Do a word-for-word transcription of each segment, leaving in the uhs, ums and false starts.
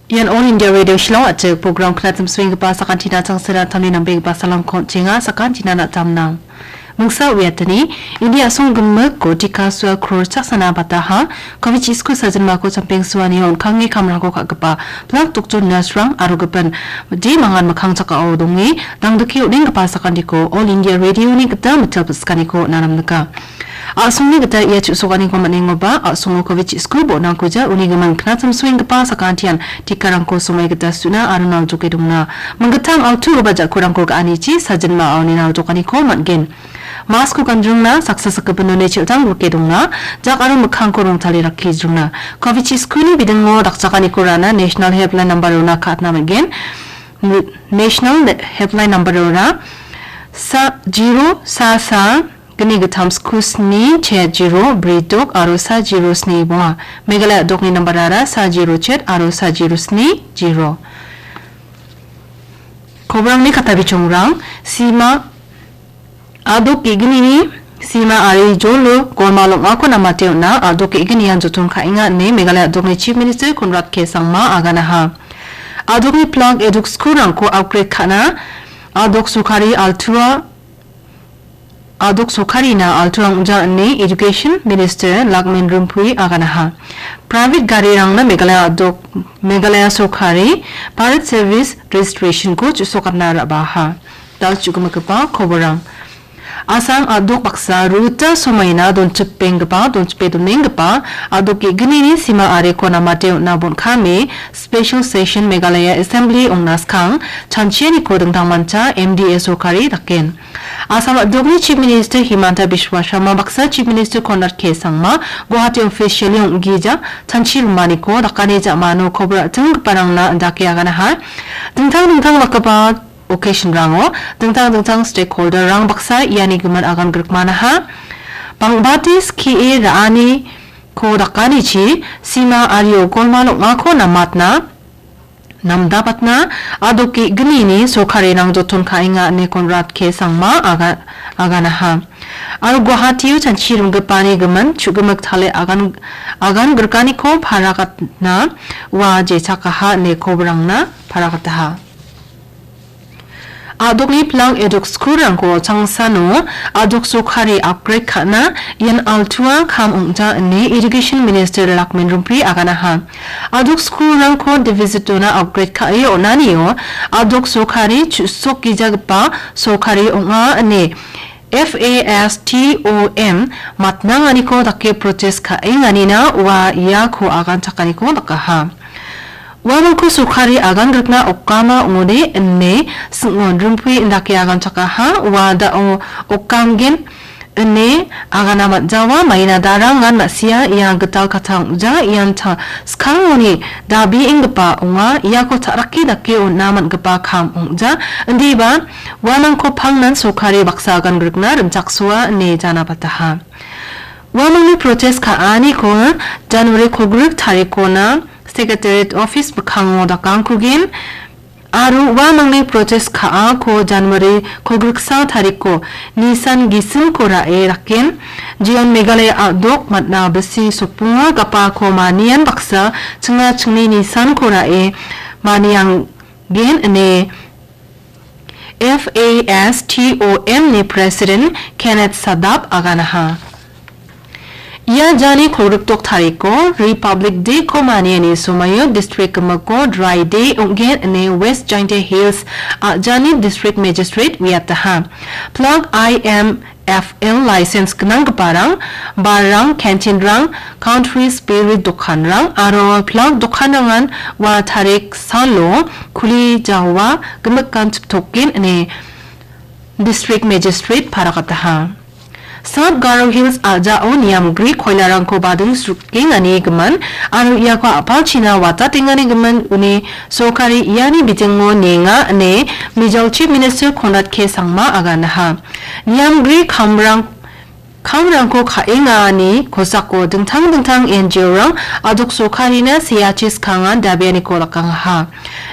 Ian All India Radio Shillong a·chik program knatchim swenggipa sakantina changsera tamni nambegipa salangko on·chenga, sakantina na·tamnang. Mingsa uiatani, India a·song gimikko tika sua kror chaksana bataha, covid chisku sajinmako champeng suani on·kange kamrangko ka·gipa, plak doktor nurse-rang aro gipin mide mangan mikkang chakao donge, dangdike on·enggipa sakantiko All India Radio-ni gita mitel pisikaniko on·a namnika. A·songni gita ia chu·sokaniko man·engoba, a·songo covid chisku bo·nangkuja uni giming knatchim swenggipa sakantian tikarangko somoi gita su·na aro naljoke dongna. Minggittam altugipa ja·kurangko ga·anichi sajinma aoni naljokaniko man·gen. Mask-ko ganjringna, saksa sakgipin none chel·tang rike dongna, jak aro mikkangko rongtale rakki jringna. Covid chiskuni bidingo dakchakaniko rana National Helpline number-ona ka·atna man·gen. National Helpline number-ora sa zero sa sa gni gittam sku sni chet zero bri dok aro sa zero sni bonga. Meghalaya dokni nambarara sa zero chet aro sa zero sni zero. Kobrangni katabichongrang, sima a·dok ge·gnini sima ari jolo golmal ong·ako namate on·a, a·dok ge·gnian joton ka·enga ine Meghalaya a·dokni Chief Minister Conrad K Sangma aganaha. A·dokni plak eduk skulrangko upgrade ka·na, a·dok sorkari altua A·dok sorkarina altuang ong·ja ine Education Minister Lakmin Rumpui aganaha. Private garirangna Meghalaya a·dok, Meghalaya sorkari Bharat Service Registration-ko chu·sokatna ra·baha. Da·o chu·gimigipa koborang. Assam a·dok baksa ruta somaina donchipenggipa, donchipe donenggipa a·dok ge·gnini sima areko namate on·a bon·kame Special Session Meghalaya Assembly ong·na skang chanchianiko dingtangmancha M D A sorkari daken. Assam a·dokni Chief Minister Himanta Biswa Sarma baksa Chief Minister Conrad K Sangma Guwahati officially ong·gija chanchi rimaniko dakani ja·mano kobor a·tinggiparangna indake aganaha. Dingtang dingtang dakgipa occasion-rango dingtang dingtang stakeholder-rang baksa iani gimin agan grikmanaha. Bangbate skie ra·aniko dakanichi sima ario golmal ong·ako namatna namdabatna a·dok ge·gnini sorkarirang joton ka·enga ine Conrad K Sangma aga-, aganaha. Aro Guwahatio chanchi ringgipani gimin chu·gimik tale agan, agan grikaniko paragatna ua jechakaha ine koborangna paragataha. A·dokni pilang eduk skulrangko changsano a·dok sorkari upgrade ka·na ian altua kam ong·ja ine Education Minister Lakmin Rumpui aganaha. A·dok skulrangko deficit-ona upgrade ka·e on·anio a·dok sorkari chu·sokgijagipa sorkari ong·a ine F A S T O M matnanganiko dake protest ka·enganina ua iako agan chakaniko dakaha. Uamangko sorkari agan grikna okama ong·ode ine Singnon Rumpui indake agan chakaha. Ua da·o okanggen ine agana man·jawa, maina darangan ma·sia ia gital katang ong·ja, ian ta-, skangoni dabienggipa ong·a, iako ta·rake dake on·a man·gipa kam ong·ja. Indiba uamangko pangnan sorkari baksa agan grikna rimchaksoa ine janabataha. Uamangni protest ka·aniko January kolgrik tarikona Secretariat office mikkango dakangkugen aro uamangni protest ka·ako January kolgriksa tariko nisan gisimko ra·e raken. Jeon Meghalaya a·dok matna bisi sokbonga gapako manian baksa chingna chingni nisanko ra·e manianggen ine F A S T O M ni President Kenneth Sadap aganaha. Ia jani kolgrikdok tariko Republic Day-ko maniani somoio district gimiko dry day ong·gen ine West Jaintia Hills a·jani District Magistrate uiataha. Plak I M F L license gnanggiparang, barrang, canteen-rang, country spirit dokanrang aro plak dokanrangan ua tarik salo kuli jawa gimikan chiptoken ine District Magistrate paragataha. South Garo Hills a·jao niamgri koilarangko bading srukengani gimin aro iako a·palchina watatengani gimin uni sorkari iani bitingo nenga ine Mizo Chief Minister Conrad K Sangma aganaha. Niamgri kamrang, kamrangko ka·engani kosako dingtang dingtang N G O-rang a·dok sorkarina seachi skangan dabianiko dakangaha.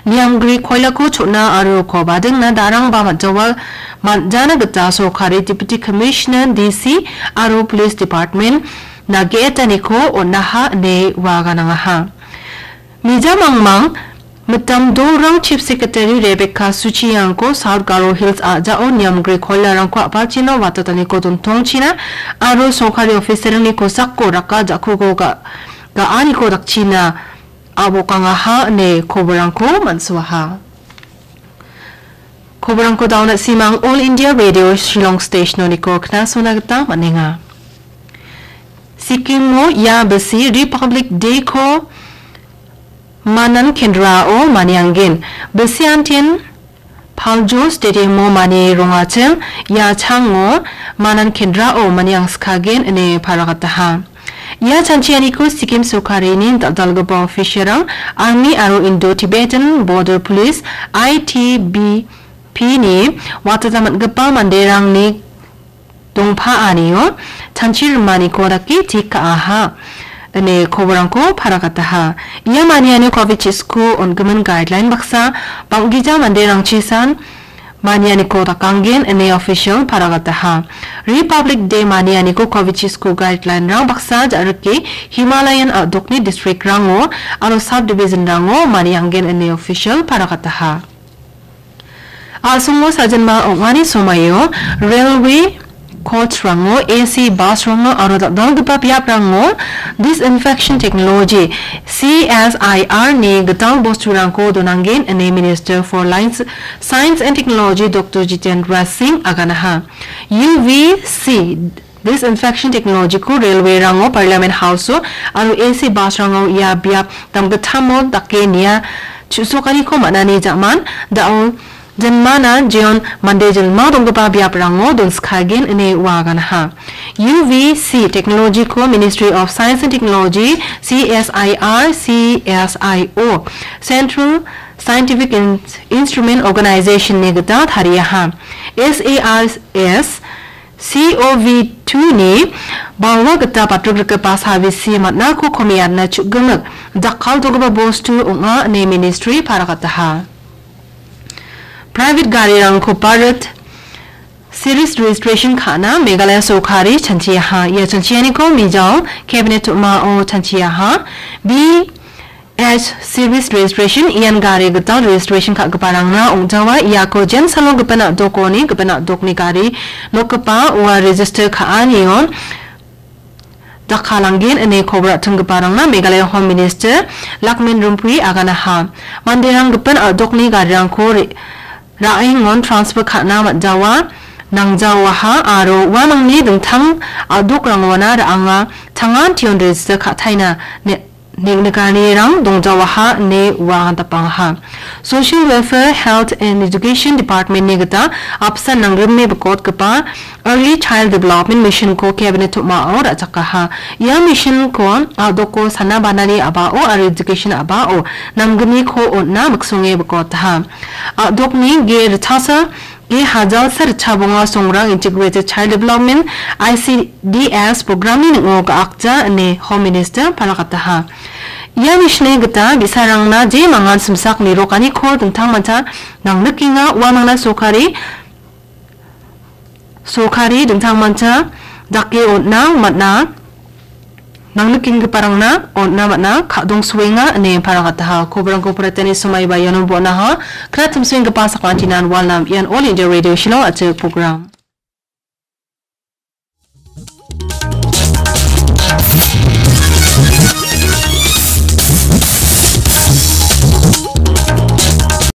Niamgri koilako chona aro uko badingna darangba man·jawa, man·jana gita sorkari Deputy Commissioner, D C aro Police Department nagetaniko on·aha ine ua ganangaha. Mija mangmang Mitam dolrang Chief Secretary Rebecca Suchiangko South Garo Hills a·jao niamgre koilarangko a·palchina watataniko dontongchina aro sorkari officerrangni kosako raka ja·kuko ga-, ga·aniko dakchina a·bokangaha ine koborangko man·suaha. Koborangko dauna simang All India Radio Shillong Stationoniko knasona gita man·enga. Sikkimo ia bisi Republic Day-ko Manan Kendrao manianggen. Bisiantin Paljo Stadium-o mani rongachim, ia chango Manan Kendrao maniangskagen ine paragataha. Ia chanchianiko Sikkim sorkarini dal·dalgipa officialrang, Army aro Indo-Tibetan Border Police, I T B P-ni watata man·gipa manderangni dongpaanio chanchi rimaniko dake tik ka·aha ine koborangko paragataha. Ia maniani covid chisko on·gimin guideline baksa bang·gija manderangchisan manianiko dakanggen ine official paragataha. Republic Day manianiko covid chisko guideline-rang baksa ja·rike Himalayan a·dokni district-rango aro subdivision-rango manianggen ine official paragataha. A·songo sajinma ong·ani somaio railway coach-rango, A C bus-rango aro dal·dalgipa biaprango disinfection technology, C S I R-ni gital bosturangko donanggen ine Minister for Lines, Science and Technology Doctor Jitendra Singh aganaha. U V C disinfection technology-ko railway-rango, Parliament House-o aro A C bus-rango ia biap damgitamo dake nia chu·sokaniko man·ani ja·man, da·o jinmana jeon mande jilma donggipa biaprango donskagen ine ua aganaha. U V C technology-ko Ministry of Science and Technology, C S I R, C S I O, Central Scientific In-, Instrument Organization-ni gita tariaha. S A R S C O V two-ni balwa gita batrikgipa sabisi man·ako komeatna chu·gimik jakkaltogipa bostu ong·a ine ministry paragataha. Private garirangko Bharat Series registration ka·na Meghalaya sorkari chanchiaha. Ia chanchianiko Mijao Cabinet-o chanchiaha. B H Series registration ian gari gital registration ka·giparangna ong·jawa. Iako jensalo gipin a·dokoni gipin a·dokni gari nokgipa ua register ka·anio dakkalanggen ine kobor a·tinggiparangna Meghalaya Home Minister Lakmin Rumpui aganaha. Manderang gipin a·dokni garirangko re-, ra·engon transfer ka·na man·jawa, nangjawaha aro uamangni dingtang a·dokrangona ra·anga tangan tion register ka·taina ne-, neng·nikanirang dongjawaha ine ua dapangaha. Social Welfare, Health and Education Department-ni gita apsan nangrime bikotgipa Early Child Development Mission-ko Cabinet-o ra·chakaha. Ia mission-ko a·doko sana banani a·bao aro education a·bao namgniko on·na miksonge bikotaha. A·dokni ge ritchasa ge hajalsa ritchabonga songrang Integrated Child Development, I C D S, program-ni ning·o ga·akja ine Home Minister palakataha. Ia mission-ni gita bi·sarangna je mangan simsak nirokaniko dingtangmancha nangnikenga, uamangna sorkari, sorkari dingtangmancha dake on·na man·a, nangnikenggiparangna on·na man·a, ka·dongsoenga ine paragataha. Koborangko paratani somaiba iano bon·aha. Knatimsoenggipa sakantinan walnam ian All India Radio Shillong a·chik program.